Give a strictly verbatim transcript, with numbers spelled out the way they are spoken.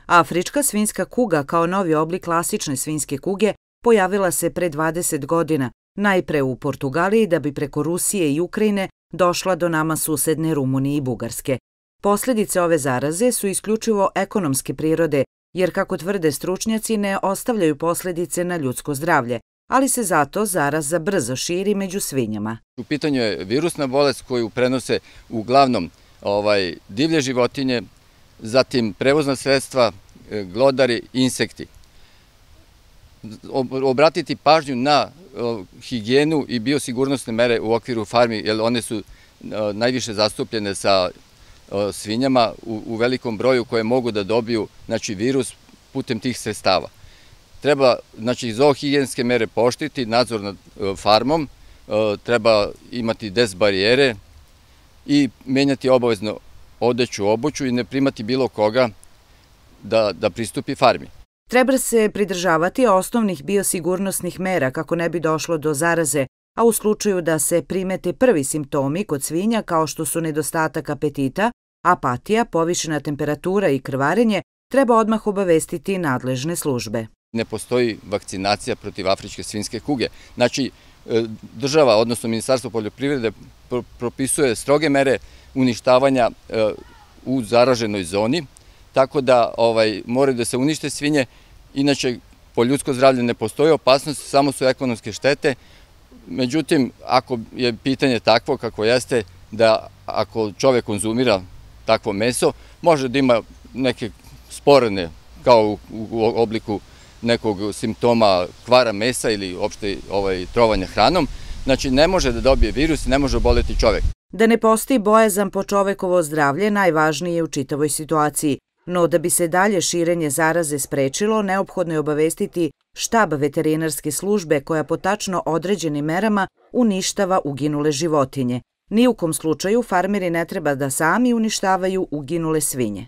Afrička svinjska kuga kao novi oblik klasične svinjske kuge pojavila se pre dvadeset godina, najpre u Portugaliji da bi preko Rusije i Ukrajine došla do nama susedne Rumunije i Bugarske. Posljedice ove zaraze su isključivo ekonomske prirode, jer kako tvrde stručnjaci ne ostavljaju posljedice na ljudsko zdravlje, ali se zato zaraza brzo širi među svinjama. U pitanju je virusna bolest koju prenose uglavnom ovaj, divlje životinje, zatim prevozna sredstva, glodari i insekti. Obratiti pažnju na higijenu i biosigurnosne mere u okviru farmi, jer one su najviše zastupljene sa svinjama u, u velikom broju koje mogu da dobiju znači, virus putem tih sredstava. Treba znači, zoohigijenske mere pooštriti, nadzor nad farmom, treba imati des barijere i menjati obavezno odeću, obuću i ne primati bilo koga da, da pristupi farmi. Treba se pridržavati osnovnih biosigurnosnih mera kako ne bi došlo do zaraze, a u slučaju da se primete prvi simptomi kod svinja kao što su nedostatak apetita, apatija, povišena temperatura i krvarenje, treba odmah obavestiti nadležne službe. Ne postoji vakcinacija protiv afričke svinjske kuge. Znači, država, odnosno Ministarstvo poljoprivrede, propisuje stroge mere uništavanja u zaraženoj zoni, tako da ovaj, moraju da se unište svinje, inače po ljudsko zdravlje ne postoji opasnost, samo su ekonomske štete. Međutim, ako je pitanje takvo kako jeste, da ako čovek konzumira takvo meso, može da ima neke sporedne, kao u obliku nekog simptoma kvara mesa ili uopšte ovaj, trovanja hranom, znači ne može da dobije virus i ne može oboleti čovek. Da ne postoji bojazan po čovekovo zdravlje najvažnije je u čitavoj situaciji, no da bi se dalje širenje zaraze sprečilo, neophodno je obavestiti štab veterinarske službe koja po tačno određenim merama uništava uginule životinje. Ni u kom slučaju farmeri ne treba da sami uništavaju uginule svinje.